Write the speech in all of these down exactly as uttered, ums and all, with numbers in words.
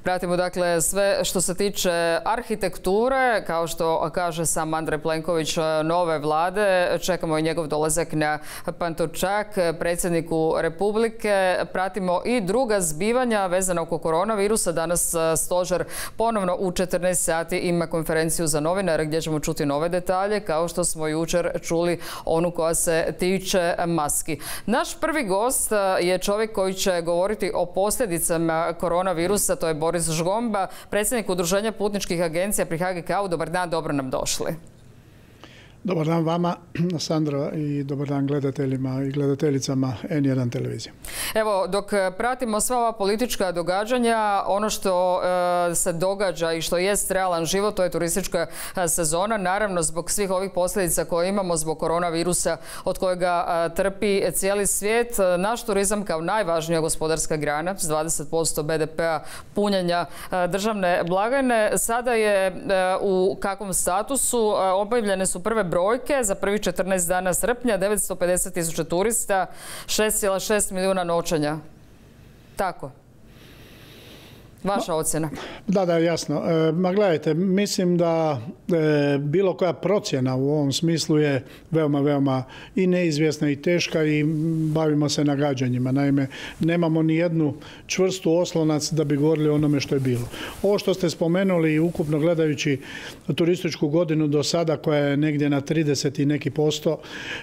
Pratimo dakle sve što se tiče arhitekture, kao što kaže sam Andrej Plenković, nove vlade. Čekamo i njegov dolazak na Pantovčak, predsjedniku Republike. Pratimo i druga zbivanja vezana oko koronavirusa. Danas stožer ponovno u četrnaest sati ima konferenciju za novinare gdje ćemo čuti nove detalje, kao što smo jučer čuli onu koja se tiče maski. Naš prvi gost je čovjek koji će govoriti o posljedicama koronavirusa, to je Boris Žgomba, predsjednik Udruženja putničkih agencija pri H G K-u. Dobar dan, dobro nam došli. Dobar dan vama, Sandra, i dobar dan gledateljima i gledateljicama N jedan televizije. Evo, dok pratimo sva ova politička događanja, ono što e, se događa i što jest realan život, to je turistička sezona. Naravno, zbog svih ovih posljedica koje imamo zbog koronavirusa od kojega a, trpi cijeli svijet, naš turizam kao najvažnija gospodarska grana s dvadeset posto B D P-a punjenja a, državne blagajne sada je a, u kakvom statusu. A, objavljene su prve brojke za prvih četrnaest dana srpnja, devetsto pedeset tisuća turista, šest zarez šest milijuna noćenja. Tako. Vaša ocjena? Da, da, jasno. E, ma gledajte, mislim da e, bilo koja procjena u ovom smislu je veoma, veoma i neizvjesna i teška i bavimo se nagađanjima. Naime, nemamo ni jednu čvrstu oslonac da bi govorili o onome što je bilo. Ovo što ste spomenuli, ukupno gledajući turističku godinu do sada, koja je negdje na trideset i neki posto,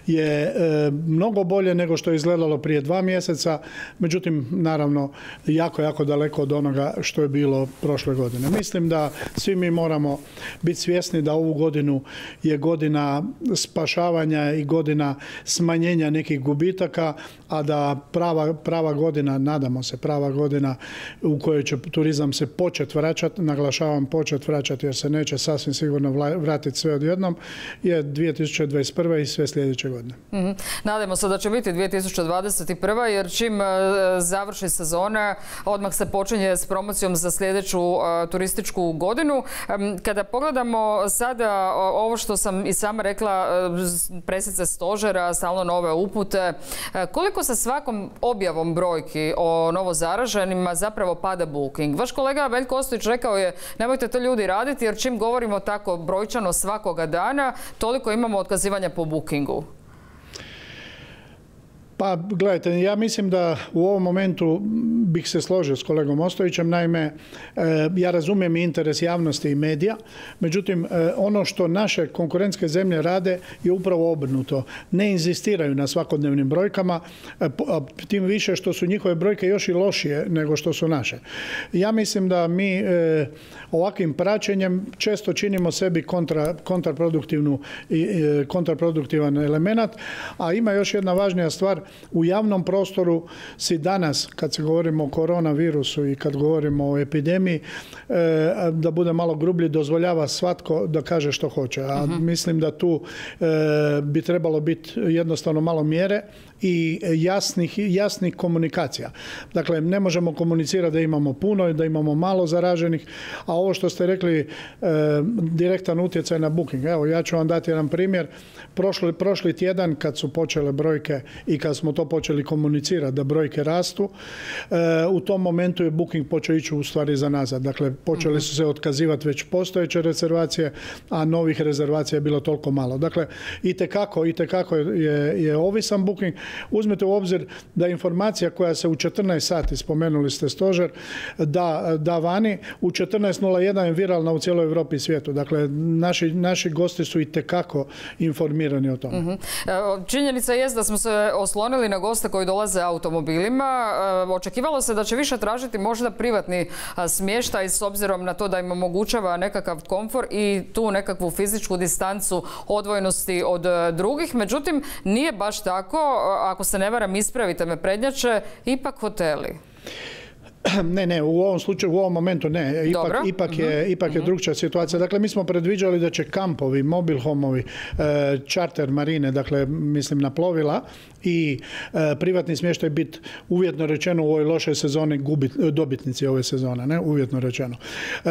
je e, mnogo bolje nego što je izgledalo prije dva mjeseca. Međutim, naravno, jako, jako daleko od onoga što je bilo prošle godine. Mislim da svi mi moramo biti svjesni da ovu godinu je godina spašavanja i godina smanjenja nekih gubitaka, a da prava, prava godina, nadamo se, prava godina u kojoj će turizam se početi vraćati, naglašavam početi vraćati jer se neće sasvim sigurno vratiti sve odjednom, je dvije tisuće dvadeset prva i sve sljedeće godine. Mm-hmm. Nadamo se da će biti dvije tisuće dvadeset prva jer čim završi sezona, odmah se počinje s promocijom za sljedeću uh, turističku godinu. Um, kada pogledamo sada uh, ovo što sam i sama rekla, uh, presice stožera, stalno nove upute, uh, koliko sa svakom objavom brojki o novozaraženima zapravo pada booking? Vaš kolega Veljko Ostojić rekao je nemojte to ljudi raditi jer čim govorimo tako brojčano svakoga dana, toliko imamo otkazivanja po bookingu. Pa, gledajte, ja mislim da u ovom momentu bih se složio s kolegom Ostojićem. Naime, ja razumijem interes javnosti i medija, međutim, ono što naše konkurentske zemlje rade je upravo obrnuto. Ne inzistiraju na svakodnevnim brojkama, tim više što su njihove brojke još i lošije nego što su naše. Ja mislim da mi ovakvim praćenjem često činimo sebi kontra, kontraproduktivnu, kontraproduktivan element, a ima još jedna važnija stvar. U javnom prostoru si danas, kad se govorimo o koronavirusu i kad govorimo o epidemiji, da bude malo grublji, dozvoljava svatko da kaže što hoće. A uh-huh. mislim da tu bi trebalo biti jednostavno malo mjere i jasnih, jasnih komunikacija. Dakle, ne možemo komunicirati da imamo puno i da imamo malo zaraženih, a ovo što ste rekli, direktan utjecaj na booking. Evo, ja ću vam dati jedan primjer. Prošli, prošli tjedan kad su počele brojke i kad smo to počeli komunicirati da brojke rastu, u tom momentu je booking počeo ići u stvari za nazad. Dakle, počeli su se otkazivati već postojeće rezervacije, a novih rezervacija je bilo toliko malo. Dakle, itekako, itekako je, je ovisan booking. Uzmite u obzir da informacija koja se u četrnaest sati, spomenuli ste stožer, da, da vani, u četrnaest nula jedan je viralna u cijeloj Europi i svijetu. Dakle, naši, naši gosti su itekako informirani o tome. Mm-hmm. Činjenica je da smo se oslonili na goste koji dolaze automobilima. Očekivalo se da će više tražiti možda privatni smještaj s obzirom na to da im omogućava nekakav komfor i tu nekakvu fizičku distancu odvojenosti od drugih. Međutim, nije baš tako. Ako se ne varam, ispravite me prednjače, ipak hoteli. Ne, ne, u ovom slučaju, u ovom momentu ne. Ipak, ipak je, uh-huh. ipak je uh-huh. drugčija situacija. Dakle, mi smo predviđali da će kampovi, mobil homovi, e, čarter marine, dakle, mislim na plovila i e, privatni smještaj biti uvjetno rečeno u ovoj lošoj sezoni gubit, dobitnici ove sezone, ne, uvjetno rečeno. E,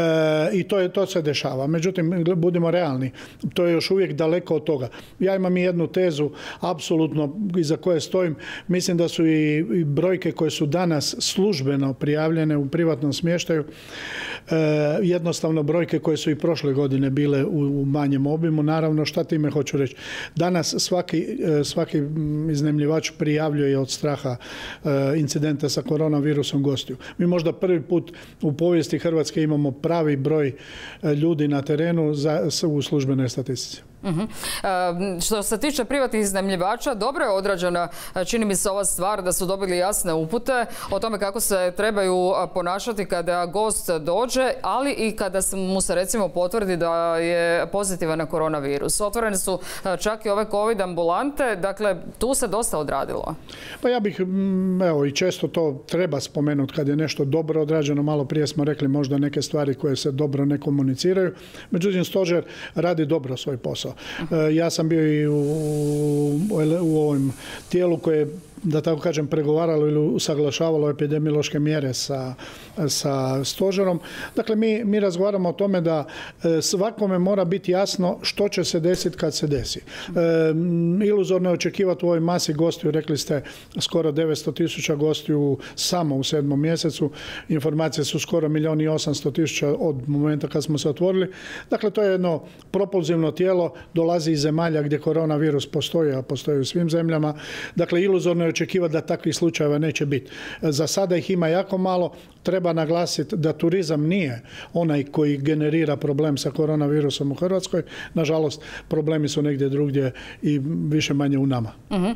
I to, je, to se dešava. Međutim, budimo realni, to je još uvijek daleko od toga. Ja imam i jednu tezu, apsolutno, iza koje stojim. Mislim da su i, i brojke koje su danas službeno prijavljene prijavljene u privatnom smještaju. E, jednostavno brojke koje su i prošle godine bile u, u manjem obimu. Naravno, šta time hoću reći? Danas svaki, svaki iznajmljivač prijavljuje od straha e, incidenta sa koronavirusom gostiju. Mi možda prvi put u povijesti Hrvatske imamo pravi broj ljudi na terenu za, u službenoj statistici. Uh-huh. E, što se tiče privatnih iznajmljivača, dobro je odrađena, čini mi se, ova stvar da su dobili jasne upute o tome kako se trebaju ponašati kada gost dođe, ali i kada mu se recimo potvrdi da je pozitivan na koronavirus. Otvorene su čak i ove COVID ambulante, dakle tu se dosta odradilo. Pa ja bih, evo, i često to treba spomenuti kad je nešto dobro odrađeno. Malo prije smo rekli možda neke stvari koje se dobro ne komuniciraju. Međutim, stožer radi dobro svoj posao. Ja sam bio i u, u ovom tijelu koje, da tako kažem, pregovaralo ili usaglašavalo epidemiološke mjere sa, sa stožerom. Dakle, mi, mi razgovaramo o tome da svakome mora biti jasno što će se desiti kad se desi. E, iluzorno je očekivati u ovoj masi gostiju, rekli ste skoro devetsto tisuća gostiju samo u sedmom mjesecu. Informacije su skoro milijun i osamsto tisuća od momenta kad smo se otvorili. Dakle, to je jedno propulzivno tijelo, dolazi iz zemalja gdje koronavirus postoji, a postoji u svim zemljama. Dakle, iluzorno je očekivati da takvih slučajeva neće biti. Za sada ih ima jako malo. Treba naglasiti da turizam nije onaj koji generira problem sa koronavirusom u Hrvatskoj. Nažalost, problemi su negdje drugdje i više manje u nama. Uh-huh.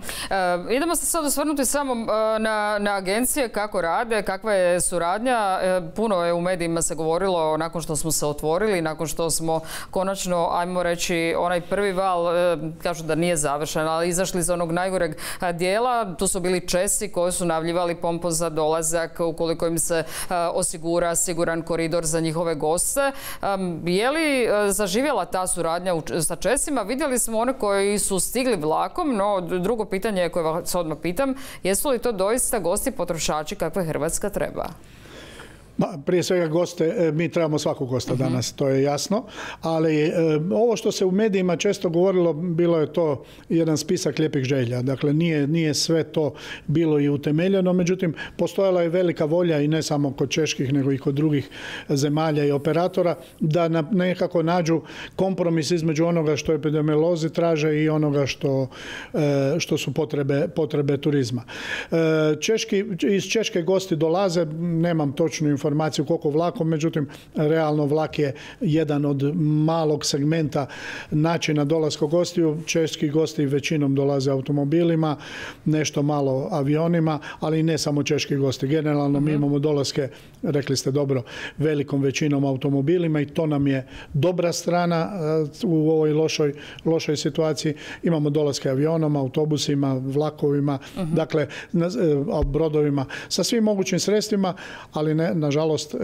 E, idemo se sad osvrnuti samo na, na agencije, kako rade, kakva je suradnja. E, puno je u medijima se govorilo nakon što smo se otvorili, nakon što smo konačno, ajmo reći, onaj prvi val, e, kažu da nije završen, ali izašli iz onog najgoreg dijela. Tu su bili Česi koji su najavljivali pompozan dolazak ukoliko im se osigura siguran koridor za njihove goste. Je li zaživjela ta suradnja sa Česima? Vidjeli smo one koji su stigli vlakom, no drugo pitanje koje vas odmah pitam, jesu li to doista gosti potrošači kakve Hrvatska treba? Prije svega goste, mi trebamo svakog gosta danas, to je jasno, ali e, ovo što se u medijima često govorilo, bilo je to jedan spisak lijepih želja. Dakle, nije, nije sve to bilo i utemeljeno, međutim, postojala je velika volja i ne samo kod čeških, nego i kod drugih zemalja i operatora, da na, nekako nađu kompromis između onoga što epidemiolozi traže i onoga što, e, što su potrebe, potrebe turizma. E, Češki, iz Češke gosti dolaze, nemam točnu informaciju informaciju koliko vlakom, međutim, realno vlak je jedan od malog segmenta načina dolaska gostiju. Češki gosti većinom dolaze automobilima, nešto malo avionima, ali ne samo češki gosti. Generalno mi imamo dolaske, rekli ste dobro, velikom većinom automobilima i to nam je dobra strana u ovoj lošoj, lošoj situaciji. Imamo dolaske avionom, autobusima, vlakovima, uh-huh. dakle, brodovima, sa svim mogućim sredstvima, ali ne, nažalost,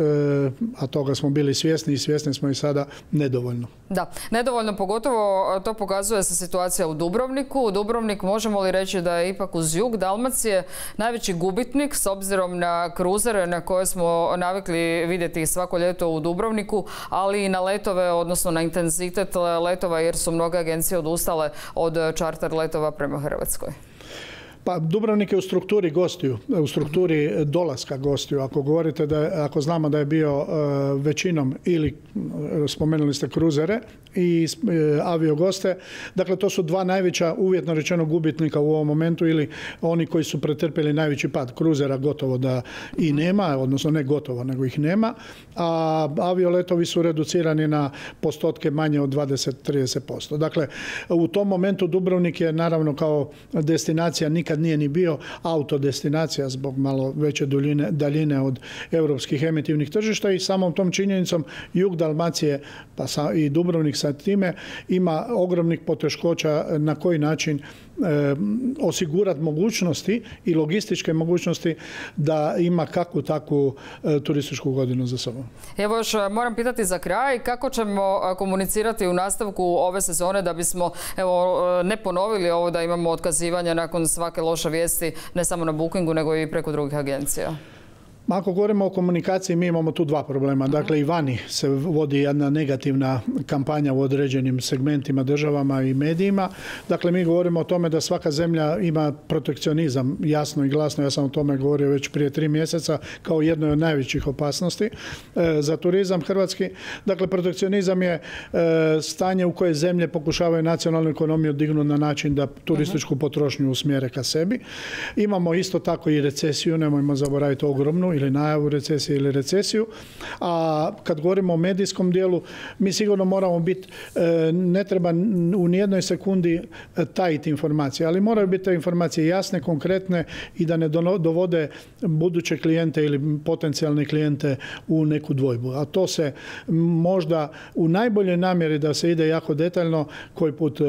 a toga smo bili svjesni i svjesni smo i sada, nedovoljno. Da, nedovoljno, pogotovo to pokazuje se situacija u Dubrovniku. Dubrovnik, možemo li reći da je ipak uz jug Dalmacije najveći gubitnik s obzirom na kruzere na koje smo navikli vidjeti svako ljeto u Dubrovniku, ali i na letove, odnosno na intenzitet letova, jer su mnoge agencije odustale od čarter letova prema Hrvatskoj. Pa Dubrovnik je u strukturi gostiju, u strukturi dolaska gostiju. Ako govorite da je, ako znamo da je bio uh, većinom ili spomenuli ste kruzere i uh, aviogoste, dakle to su dva najveća, uvjetno rečeno, gubitnika u ovom momentu ili oni koji su pretrpjeli najveći pad. Kruzera gotovo da i nema, odnosno ne gotovo, nego ih nema, a avioletovi su reducirani na postotke manje od dvadeset do trideset posto. Dakle, u tom momentu Dubrovnik je naravno kao destinacija nikad nije ni bio autodestinacija zbog malo veće duljine, daljine od europskih emitivnih tržišta i samom tom činjenicom jug Dalmacije pa sa, i Dubrovnik sa time ima ogromnih poteškoća na koji način e, osigurati mogućnosti i logističke mogućnosti da ima kakvu takvu e, turističku godinu za sobom. Evo još moram pitati za kraj, kako ćemo komunicirati u nastavku ove sezone da bismo evo, ne ponovili ovo da imamo otkazivanja nakon svake loše vijesti, ne samo na Bookingu, nego i preko drugih agencija? Ako govorimo o komunikaciji, mi imamo tu dva problema. Dakle, i vani se vodi jedna negativna kampanja u određenim segmentima, državama i medijima. Dakle, mi govorimo o tome da svaka zemlja ima protekcionizam, jasno i glasno. Ja sam o tome govorio već prije tri mjeseca kao jednoj od najvećih opasnosti za turizam hrvatski. Dakle, protekcionizam je stanje u koje zemlje pokušavaju nacionalnu ekonomiju dignuti na način da turističku potrošnju usmjere ka sebi. Imamo isto tako i recesiju, nemojmo zaboraviti ogromnu, ili najavu recesije ili recesiju. A kad govorimo o medijskom dijelu, mi sigurno moramo biti, ne treba u nijednoj sekundi tajiti informacije, ali moraju biti te informacije jasne, konkretne i da ne dovode buduće klijente ili potencijalne klijente u neku dvojbu. A to se možda u najboljoj namjeri da se ide jako detaljno koji put e,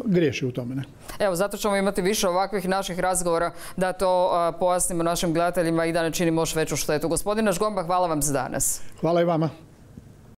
griješi u tome. Ne? Evo, zato ćemo imati više ovakvih naših razgovora da to a, pojasnimo našim gledateljima i da ne činimo još veću štetu. Gospodine Žgomba, hvala vam za danas. Hvala i vama.